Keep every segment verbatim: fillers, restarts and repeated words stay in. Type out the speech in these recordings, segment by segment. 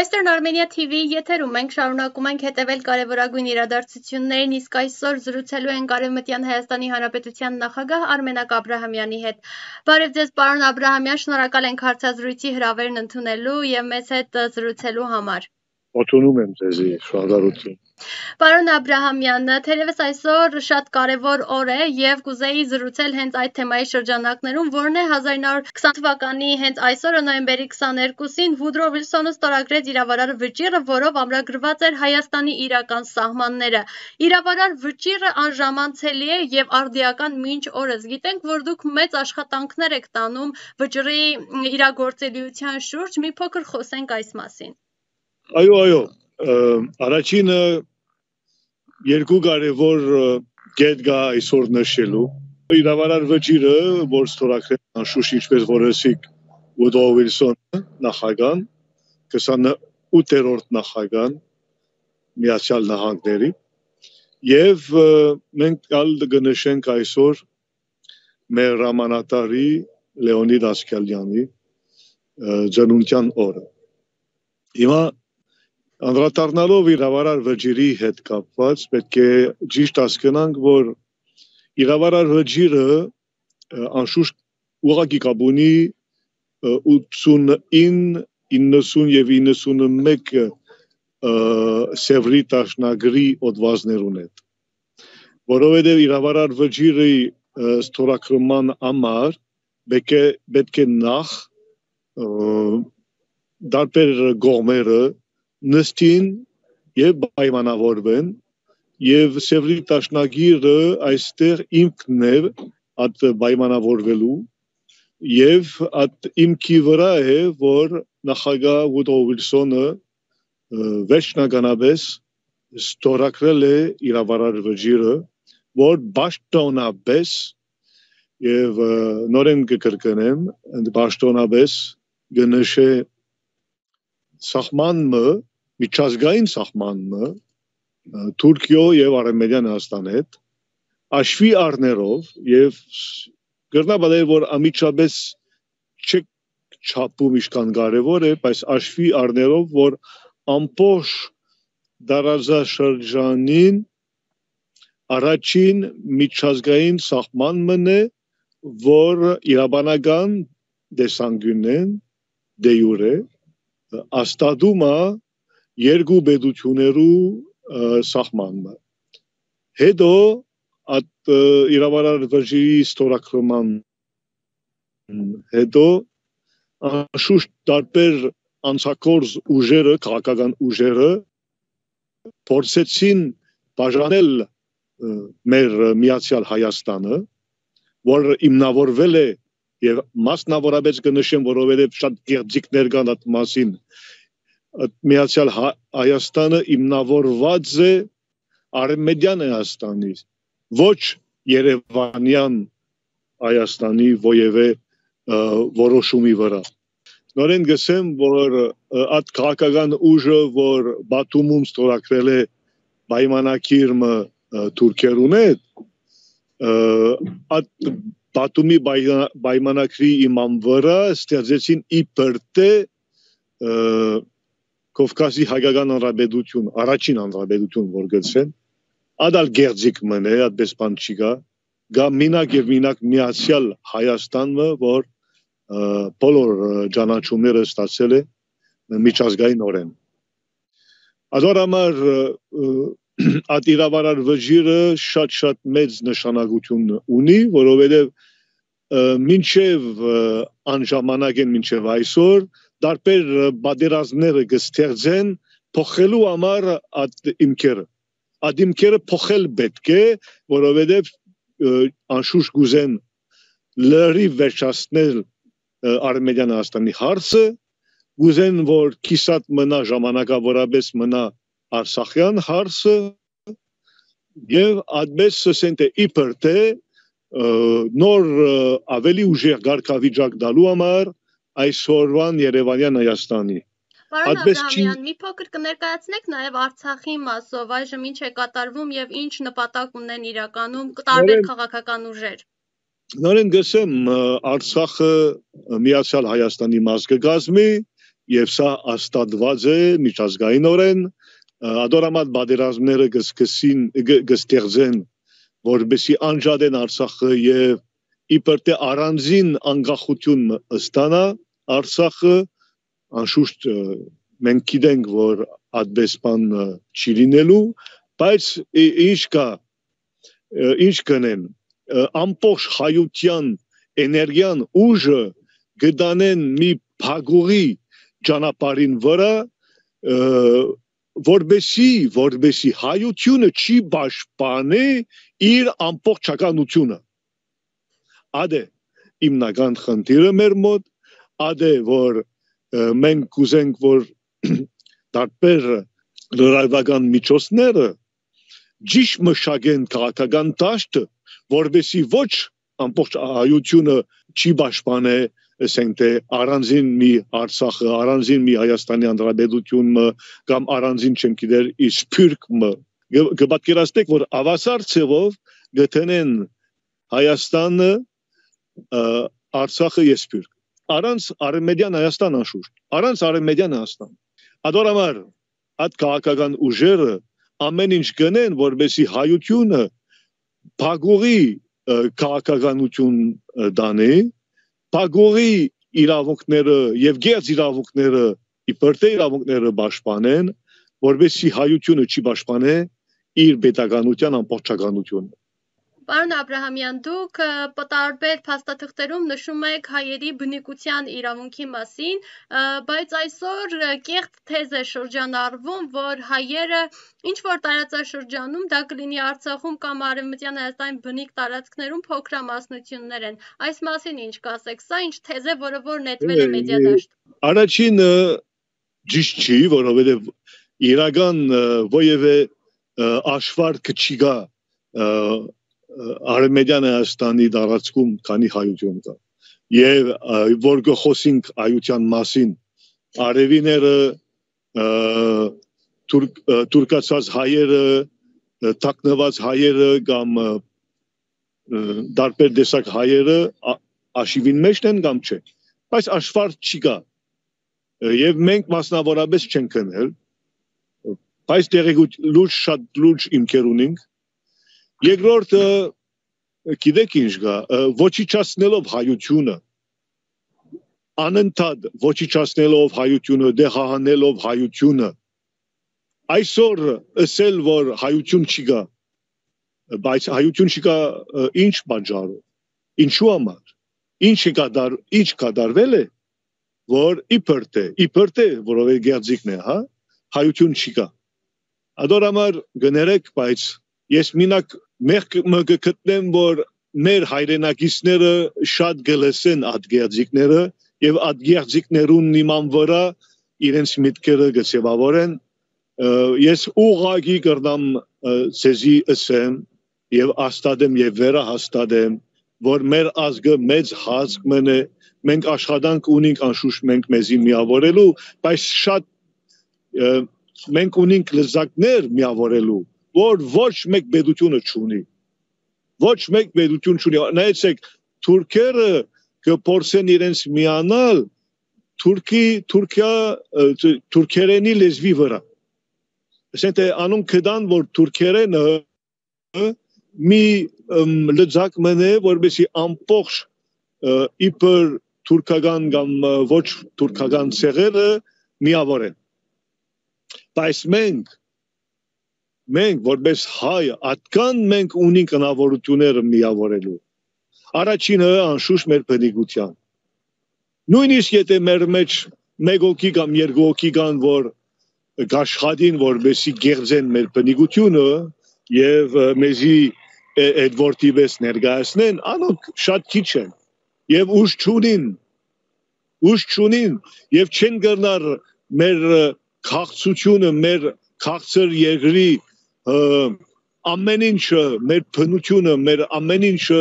Western Armenia T V եթերում ենք շարունակում ենք հետևել կարևորագույն իրադարձություններին, իսկ այսօր զրուցելու ենք Արևմտյան Հայաստանի Հանրապետության նախագահ Արմենակ Աբրահամյանի հետ։ Բարև ձեզ, պարոն Աբրահամյան, շնորհակալ ենք հարցազրույցի հրավերն ընդունելու եւ մեզ հետ զրուցելու համար։ Ողջունում եմ ձեզ, շնորհակալություն։ Պարոն Աբրահամյան, թերևս այսօր շատ կարևոր օր է եւ կուզեի զրուցել հենց այդ թեմայի շրջանակներում, որն է հազար ինը հարյուր քսան թվականի հենց այսօրը նոյեմբերի քսաներկուսին Վուդրո Վիլսոնը ստորագրեց իրավարար վճիռը, որով ամրագրված էր Հայաստանի իրական սահմանները։ Իրավարար վճիռը անժամանցելի է եւ արդիական մինչ օրս։ Գիտենք, որ դուք մեծ աշխատանքներ եք տանում վճռի իրագործելիության շուրջ, մի փոքր խոսենք այս մասին։ Այո, այո, առաջինը երկու կարևոր կետ կա այսօր նշելու։ Իրավարար վճիռը, որ ստորագրել անշուշտ ինչպես որ ասիք Վուդրո Վիլսոնը նախագահան, քսանութերորդ նախագահան Միացյալ Նահանգների, եւ մենք կալ կնշենք այսօր մեր հրամանատարի Լեոնիդ Ասկալյանի ծննդյան օրը։ Հիմա անդրադառնալով իրավարար վճիռի հետ կապված պետք է ճիշտ հասկանանք, որ իրավարար վճիռը անշուշտ ուղղակի կապ ունի ութսունինը, իննսուն եւ իննսունմեկ Սևրի տաշնագրի օդվածներուն հետ, որովհետեւ իրավարար վճիռի ստորագրման համար պետք է նախ դարբեր կողմերը նստին եւ պայմանավորվեն եւ Սևրի տաշնագիրը այստեղ ինքն է այդ պայմանավորվելու եւ այդ ինքի վրա է, որ նախագահ Վուդրո Վիլսոնը վերջնականապես ստորագրել է իրավարար վճիռը, որ պաշտոնապես եւ նորեն կկրկնեմ, պաշտոնապես կնշե սահմանը միջազգային սահմանը Թուրքիո եւ Արմենիան Հայաստան հետ աշվի առներով եւ գրնաբադել որ ամիջապես չեք չափում իշքան կարեւոր է, բայց աշվի առներով որ ամբողջ դարաշրջանին առաջին միջազգային սահմանն է, որ իրավաբանական դեսանգյունեն դե յուրե աստատում է երկու պետություններու սահմանը։ Հետո այդ իրավարար վճիռի ստորագրման հետո անշուշտ տարբեր անցակորձ ուժերը, քաղաքական ուժերը փորձեցին բաժանել մեր Միացյալ Հայաստանը, որ հիմնավորվել է եւ մասնավորապես կնշեմ, որովհետեւ շատ գեղձիկներ կան այդ մասին, Միացյալ Հայաստանը հիմնավորված է Արմենիան Հայաստանի, ոչ Երևանյան Հայաստանի որևէ որոշումի վրա։ Նորեն գսեմ, որ այդ քաղաքական ուժը, որ Բաթումում ստորագրել է պայմանակիրը թուրքերուն հետ, այդ Բաթումի պայմանագրի իման վրա ստեղծեցին իբր թե Կովկասի հայկական հանրապետություն, առաջին հանրապետություն, որ գծեն, ադալ գեղձիկ մնե, այդպես բան չի գա, գա մինակ եւ մինակ Միացյալ Հայաստանը, որ բոլոր ճանաչումները ստացել է միջազգային օրեն։ ಅದರ համար այդ իրավարար վճիռը շատ-շատ մեծ նշանակություն ունի, որովհետեւ մինչեւ անժամանակ են մինչեւ այսօր դարբեր բادرազմները կստեղծեն փոխելու համար այդ իմքերը։ Այդ իմքերը փոխել պետք է, որովհետև անշուշտ գուզեն լրիվ վերջացնել Արմենիան Հայաստանի հարցը, գուզեն որ կիսատ մնա ժամանակավորապես մնա Արցախյան հարցը եւ այդպես ասեն թե իբր թե նոր ավելի ուժեղ գարկավիճակ դալու համար այսօրվան Երևանյան Հայաստանի։ Պարոն Աբրահամյան, մի փոքր կներկայացնեք նաև Արցախի մասով, այժմ ինչ է կատարվում եւ ինչ նպատակ ունեն իրականում տարբեր քաղաքական ուժեր։ Նորեն գսեմ Արցախը Միացյալ Հայաստանի մաս կգազմի եւ սա աստատված է միջազգայինորեն ադորամատ բادرազմները գսկսին գստեղծեն որբեսի անջատեն Արցախը եւ իբր թե առանձին անկախություն ստանա Արցախը անշուշտ մենք գիտենք որ այդպես բան չի լինելու բայց ինչ կա ինչ կնեն ամբողջ հայության էներգիան ուժը գտանեն մի փագուղի ճանապարհին վրա որբեսի որբեսի հայությունը չի պաշտպանի իր ամբողջականությունը ադե հիմնական խնդիրը մեր մոտ ադե որ մենք կուզենք որ տարբեր լրատվական միջոցները ճիշտ մշակեն քաղաքական դաշտը որբեսի ոչ ամբողջ հայությունը չի պաշտպանի ասենք թե առանձին մի Արցախը առանձին մի Հայաստանի Հանրապետությունը կամ առանձին չեմ գիտեր իսպիրկը կպատկերացնեք որ ավասար ցևով գտնեն Հայաստանը Արցախը իսպիրկ առանց արևմտյան Հայաստան անշուշտ առանց արևմտյան Հայաստան ադորամար այդ քաղաքական ուժերը ամեն ինչ գնեն որբեսի հայությունը փագուղի քաղաքականություն դանի Պագորի իրավունքները եւ գերձ իրավունքները իբր թե իրավունքները պաշտպանեն որովհետեւ հայությունը չի պաշտպանե իր պետականության ամբողջականությունը Պարոն Աբրահամյան, դուք տարբեր փաստաթղթերում նշում եք հայերի բնիկության իրավունքի մասին, բայց այսօր կեղծ թեզ է շրջանառվում, որ հայերը ինչ որ տարածաշրջանում, դա կլինի Արցախում կամ Արևմտյան Հայաստանի բնիկ տարածքներում փոքրամասնություններ են։ Այս մասին ինչ կասեք, սա ինչ թեզ է, որը որ նետվել է մեդիադաշտում։ Առաջինը ճիշտ չի, որովհետև իրական ովևէ աշվարկ չկա Արևմտյան Հայաստանի տարածքում քանի հայություն կա եւ որ գխոսենք հայության մասին արևիները թուրքացած հայերը թաքնված հայերը կամ դարբեր տեսակ հայերը աշիվին մեջ են կամ չէ բայց աշվարկ չկա եւ մենք մասնավորապես չենք կնել բայց դերեգուտ լուրջ շատ լուրջ իմքեր ունենք Երկրորդը գիտեք ինչ կա ոչիչացնելով հայությունը անընդհատ ոչիչացնելով հայությունը դեղահանելով հայությունը այսօր ասել որ հայություն չկա բայց հայություն չկա ինչ պատճառով ինչու համար ինչ կդար ինչ կդարվել է որ իբր թե իբր թե որովհետեւ գերձիկն է հա հայություն չկա ադորամար գներեք բայց ես մինակ Մենք կգտնեմ, որ մեր հայրենակիցները շատ գլսեն այդ գերձիկները եւ այդ գերձիկներուն նման վրա իրենց միտքերը գծեվավորեն ես ուղղակի կրնամ ցեզի ասեմ եւ աստադեմ եւ վերահաստատեմ որ մեր ազգը մեծ հասկ մնե մենք աշխատանք ունենք անշուշտ մենք մեզի միավորելու բայց շատ մենք ունենք լեզակներ միավորելու որ ոչ մեկ պետությունը չունի ոչ մեկ պետություն չունի նայեցեք թուրքերը կփորձեն իրենց միանալ թուրքի Թուրքիա թուրքերենի լեզվի վրա ասենք թե անուն կդան որ թուրքերենը մի լեզակ մնե որբեսի ամբողջ իբր թուրքական կամ ոչ թուրքական ցեղերը միավորեն բայց մենք Մենք որպես հայ atkan մենք ունենք հնարավորությունները միավորելու Առաջինը անշուշտ մեր բնիկության Նույնիսկ եթե մեր մեջ մեկ հոգի կամ երկու հոգի կան որ գաշխատին որբեսի գերձեն մեր բնիկությունը եւ մեզի այդ որտիվես ներկայացնեն անոնք շատ քիչ են եւ ուժ չունին ուժ չունին եւ չեն գնար մեր քաղցությունը մեր քաղցր երկրի ամեն ինչը մեր բնությունը մեր ամեն ինչը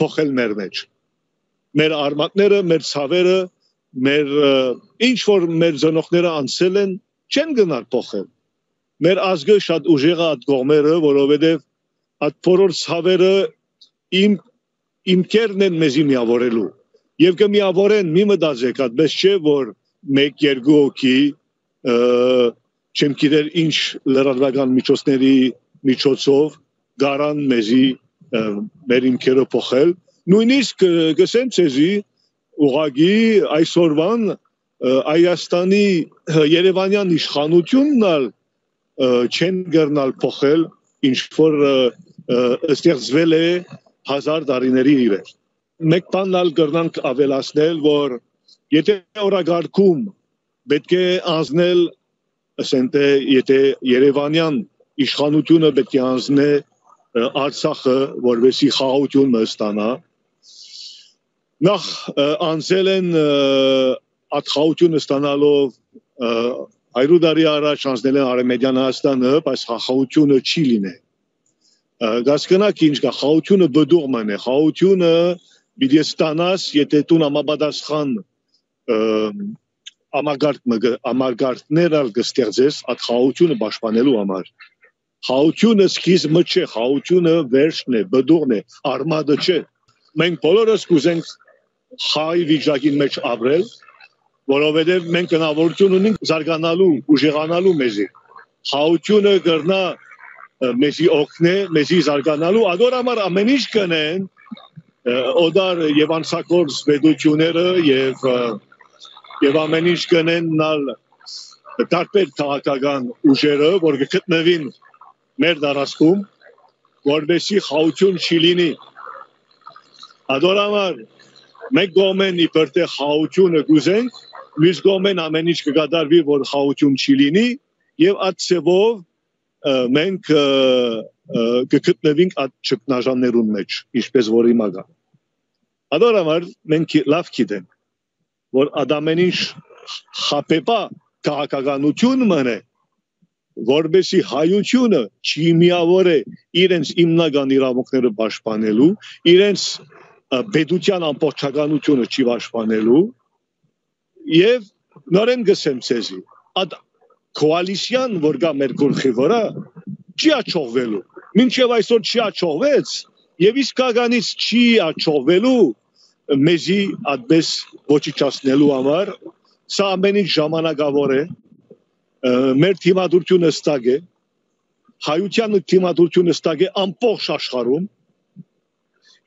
փոխել մեր մեջ մեր արմատները մեր ցավերը մեր ինչ որ մեր զնողները անցել են չեն գնալ փոխել մեր ազգը շատ ուժեղ է այդ կողմերը որովհետև այդ բոլոր ցավերը իմ իմ կերն են մեզի միավորելու եւ կմիավորեն մի մտածեք այդպես չէ որ մեկ երկու հոգի չեմ գիտեր ինչ լրատվական միջոցների միջոցով գարան մեզի մեր ինքերը փոխել նույնիսկ գսեմ ցեզի ուղագի այսօրվան Հայաստանի Երևանյան իշխանությունն ալ չեն գտնալ փոխել ինչ որ ստեղծվել է հազար տարիների իրեր մեկ բան ալ կրնանք ավելացնել որ եթե օրագարկում պետք է անցնել ասենք եթե Երևանյան իշխանությունը պետք է անցնե Արցախը որովհետեւ խաղաղություն ստանա նախ անցել են այդ խաղաղությունը ստանալով հայրու տարի առաջ անցնել են Արևմտյան Հայաստանը բայց խաղաղությունը չի լինի գասկնակ ինչ կա խաղաղությունը բդուղման է խաղաղությունը պիտի ստանաս եթե դու համապատասխան ամարգարդ ամարգարդներ ալ կստեղծես այդ խաղաղությունը պաշտպանելու համար խաղաղությունը սկիզբը չէ խաղաղությունը վերջն է բդուղն է արմատը չէ մենք բոլորս կուզենք խաղի վիճակի մեջ ապրել որովհետև մենք հնարավորություն ունենք զարգանալու ուժեղանալու մեզի խաղաղությունը կրնա մեզի օգնե մեզի զարգանալու ադոր համար ամեն ինչ կնեն օդար եւ անցակորձ վեդությունները եւ եւ ամեն ինչ կնեն նալ տարբեր քաղաքական ուժերը որ գտնվին մեր դարաշքում որովհետեւ խաղաղություն չի լինի ադոր համար մենք գոմեն իբր թե խաղաղությունը գուզենք մյուս գոմեն ամեն ինչ կկատարվի որ խաղաղություն չի լինի եւ այդ ծևով մենք կգտնվենք այդ ճգնաժամերուն մեջ ինչպես որ հիմա կա ադոր համար մենք լավ գիտենք որ ադամեն ինչ խապեպա քաղաքականություն մնե որբեսի հայությունը չի միավոր է իրենց հիմնական իրավունքները պաշտպանելու իրենց պետության ամբողջականությունը չի պաշտպանելու եւ նորեն գսեմ ցեզի այդ կոալիցիան որ կա մեր գլխի վրա չի աչողվելու մինչեւ այսօր չի աչողվեց եւ իսկականից չի աչողվելու մեզի այդպես ոչնչացնելու համար սա ամեն ինչ ժամանակավոր է մեր թիմադրությունը ստակ է հայության թիմադրությունը ստակ է ամբողջ աշխարհում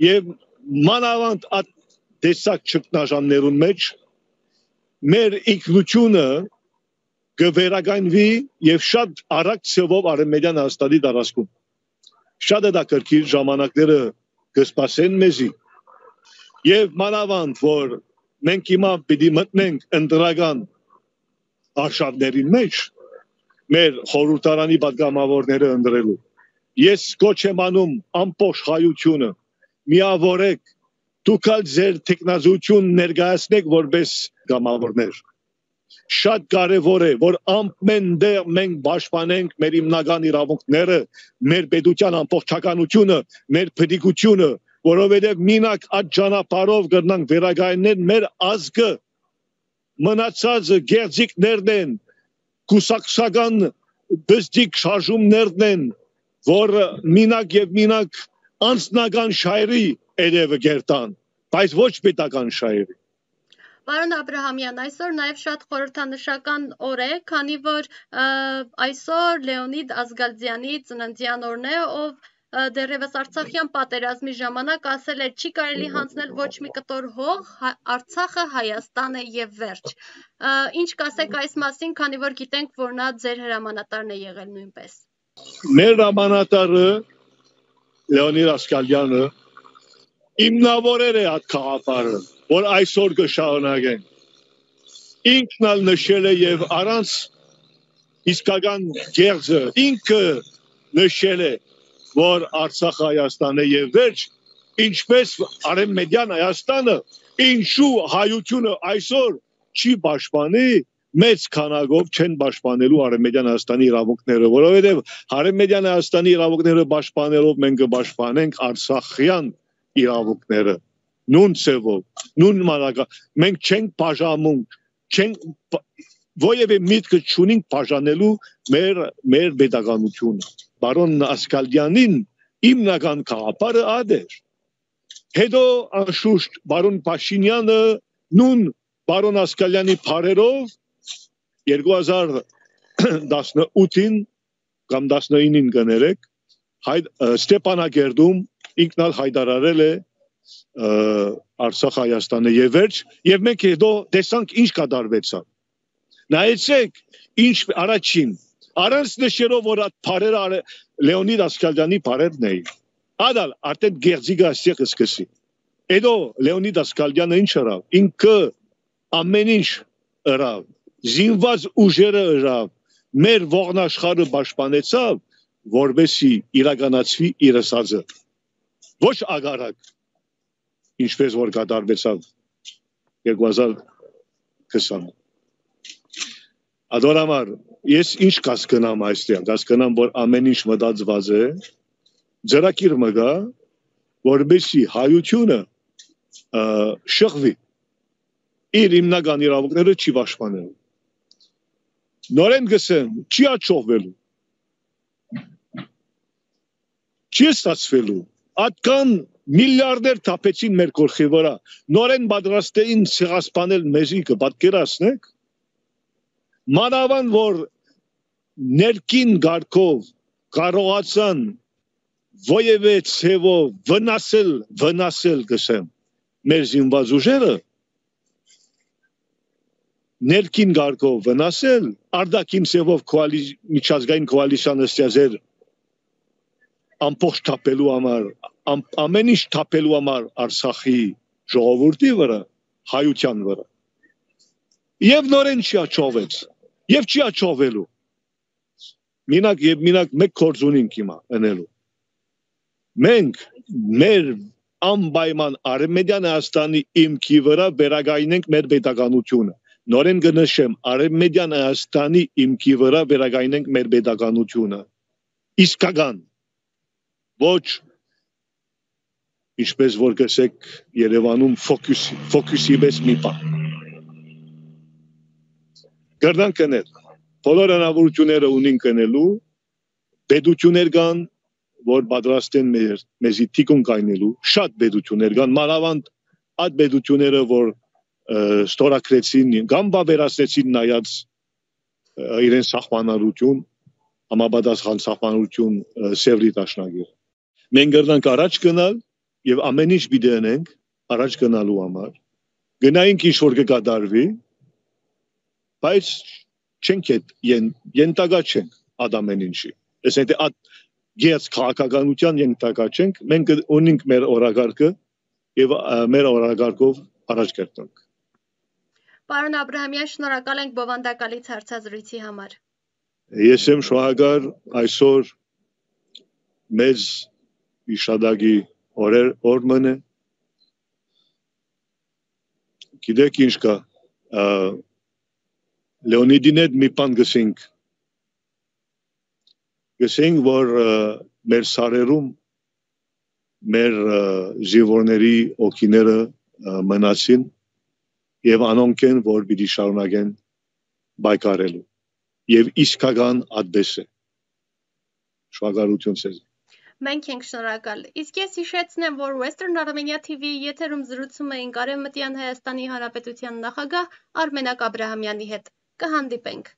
եւ մանավանդ այդ տեսակ ճգնաժամերուն մեջ մեր ինքնությունը կվերականգնվի եւ շատ արագ ծովով Արևմտյան Հայաստանի տարածքում շատ է դա կրկին ժամանակները կսպասեն մեզի եւ մանավանդ որ մենք հիմա պիտի մտնենք ընտրական արշավների մեջ մեր խորհրդարանի պատգամավորները ընտրելու ես կոչ եմ անում ամբողջ հայությունը միավորեք դուք ալ ձեր տեխնազություն ներկայացնեք որպես գամավորներ շատ կարևոր է որ ամեն դեր մենք պաշտպանենք մեր հիմնական իրավունքները մեր պետության ամբողջականությունը մեր պետիկությունը որովհետև մինակ այդ ճանապարհով կգնանք վերականգնել մեր ազգը մնացած գերձիկներն են կուսակցական բստիկ շարժումներն են որ մինակ եւ մինակ անձնական շահերի երևը գերտան բայց ոչ պետական շահերի Պարոն Աբրահամյան, այսօր նաև շատ խորհրդանշական օր է, քանի որ այսօր Լեոնիդ Ազգալձյանի ծննդյան օրն է, ով դեռևս Արցախյան պատերազմի ժամանակ ասել էր չի կարելի հանձնել ոչ մի կտոր հող, Արցախը Հայաստան է եւ վերջ։ Ինչ կասեք այս մասին, քանի որ գիտենք, որ նա ձեր հրամանատարն է եղել նույնպես։ Մեր հրամանատարը Լեոնիդ Ազգալյանը հիմնավորել է այդ քաղաքարը որ այսօր կշարունակենք ինքն ալ նշել է եւ առանց իսկական գերձը ինքը նշել է որ Արցախը Հայաստան է եւ վերջ ինչպես Արևմտյան Հայաստանը ինչու հայությունը այսօր չի պաշտպանի մեծ քանակով չեն պաշտպանելու Արևմտյան Հայաստանի իրավունքները որովհետեւ Արևմտյան Հայաստանի իրավունքները պաշտպանելով մենք կպաշտպանենք Արցախյան իրավունքները նույն ծևով, նույն մանրակա, մենք չենք բաժանում, չենք որևէ միտք չունենք բաժանելու մեր մեր պետականությունը։ Բարոն Ազգալյանին հիմնական քաղաքարը ադեր։ Հետո անշուշտ բարոն Փաշինյանը նույն Պարոն Ասկալյանի փարերով երկու հազար տասնութին կամ տասնինին կներեք Ստեփանագերդում ինքնալ հայտարարել է Արցախ Հայաստանը եւ վերջ եւ մենք հետո տեսանք ինչ կատարվեցավ նայեցեք ինչ առաջին առանց նշելով որ այդ փարերը Լեոնիդ Ասկալյանի փարերն էին ադալ արդեն գերձիգա ասիղ սկսի հետո Լեոնիդ Ասկալյանը ինչ արավ ինքը ամեն ինչ արավ զինված ուժերը արավ մեր ողնաշխարհը պաշտպանեցավ որբեսի իրականացվի իր ասածը ոչ ագարակ ինչպես որ կատարվեցավ երկու հազար քսան Ադորամար ես ինչ կասկնամ այստեղ կասկնամ որ ամեն ինչ մտածված է ձեռակիր մգա որբեսի հայությունը շղվի իր հիմնական իրավունքները չի պաշտպանել նորեն գսեմ չի աչողվելու չի ստացվելու Ատկան միլիարդեր թափեցին մեր գլխի վրա նորեն պատրաստեին ցեղասպանել մեզի կպատկերացնեք մանավանդ որ ներքին գարկով կարողացան ոևէ ցևով վնասել վնասել գսեմ մեր զինված ուժերը ներքին գարկով վնասել արդակին ցևով միջազգային կոալիցիան ստեղծել ամբողջ թափելու համար ամեն ինչ թափելու համար Արցախի ժողովրդի վրա հայության վրա եւ նորեն չի աչողվեց եւ չի աչողվելու մինակ եւ մինակ մեկ կորձ ունենք հիմա անելու մենք մեր անպայման Արևմտյան Հայաստանի իմքի վրա վերագայնենք մեր պետականությունը նորեն կնշեմ Արևմտյան Հայաստանի իմքի վրա վերագայնենք մեր պետականությունը իսկական ոչ ինչպես որ գսեք Երևանում ֆոկուս ֆոկուսի պես մի բան Գերդան կնել բոլոր հնարավորությունները ունին կնելու պետություններ կան որ պատրաստ են մեր մեզի թիկուն կայնելու շատ պետություններ կան մանավանդ այդ պետությունները որ ստորագրեցին կամ բավերացրեցին նայած իրեն սահմանալություն համապատասխան սահմանալություն սևրի տաշնագիր մենք գերդանք առաջ գնալ եւ ամեն ինչ բիդենենք առաջ գնալու համար գնայինք ինչ որ կկատարվի բայց չենք ենտակա չենք ադամեն ինչի այսինքն այդ գերց քաղաքականության ենտակա չենք մենք ունենք մեր օրագարկը եւ մեր օրագարկով առաջ կերտենք Պարոն Աբրահամյան շնորհակալ ենք բովանդակալից հարցազրույցի համար Ես եմ շնորհակալ այսօր մեծ իշադագի օրեր օրմանը գիտեք ինչ կա Լեոնիդին հետ մի բան գսենք գսենք որ մեր սարերում մեր զինվորների օքիները մնացին եւ անոնք են որ պիտի շարունակեն բայկարելու եւ իսկական ադբես է շնորհակալություն ցեզ Մենք ենք շնորհակալ իսկ ես հիշեցնեմ որ Western Armenia T V-ի եթերում զրուցում էինք Արևմտյան Հայաստանի Հանրապետության նախագահ Արմենակ Աբրահամյանի հետ կհանդիպենք